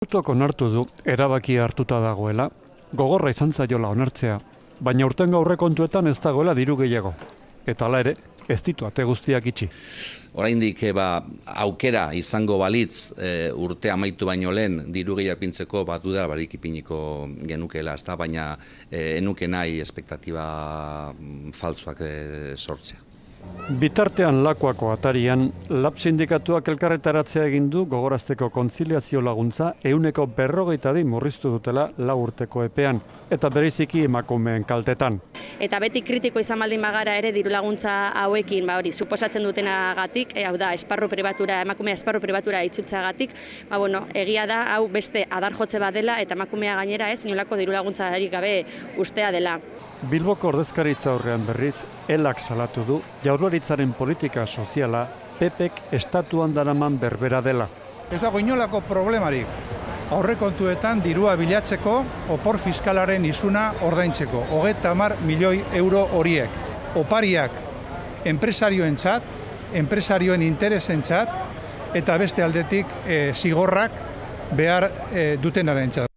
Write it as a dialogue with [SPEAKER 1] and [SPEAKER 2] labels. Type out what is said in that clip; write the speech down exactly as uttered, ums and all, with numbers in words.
[SPEAKER 1] Institutok onartu du erabaki hartuta dagoela, gogorra izan zaiola onartzea, baina urtengo aurrekontuetan ez dagoela diru gehiago. Eta hala ere, ez ditu ate guztiak itxi.
[SPEAKER 2] Oraindik ba, aukera izango balitz e, urte amaitu baino lehen diru gehiago ipintzeko bat dudala barik ipiniko genukela, ezta, baina e, enuke nahi espektatiba faltsuak e, sortzea.
[SPEAKER 1] Bitartean Lakuako atarian, Lab sindikatuak elkarretaratzea egin du gogorazteko kontziliazio laguntza ehuneko berrogeita bi murriztu dutela lau urteko epean, eta bereziki emakumeen kaltetan.
[SPEAKER 3] Eta beti kritiko izan baldin bagara ere diru laguntza hauekin, ba hori, suposatzen dutenagatik, e, hau da, esparru pribatura, emakumea esparru pribatura itzultzeagatik, ba bueno, egia da, hau beste adar jotze badela eta emakumea gainera ez, inolako diru laguntzarik gabe ustea dela.
[SPEAKER 1] Bilboko ordezkaritza aurrean berriz, elak salatu du Jaurlaritzaren politika soziala P Pek estatuan daraman berbera dela.
[SPEAKER 4] Ez dago inolako problemarik aurrekontuetan dirua bilatzeko opor fiskalaren isuna ordaintzeko. Hogeita hamar milioi euro horiek. Opariak enpresarioentzat, enpresarioen interesentzat eta beste aldetik e, zigorrak behar e, dutenarentzat.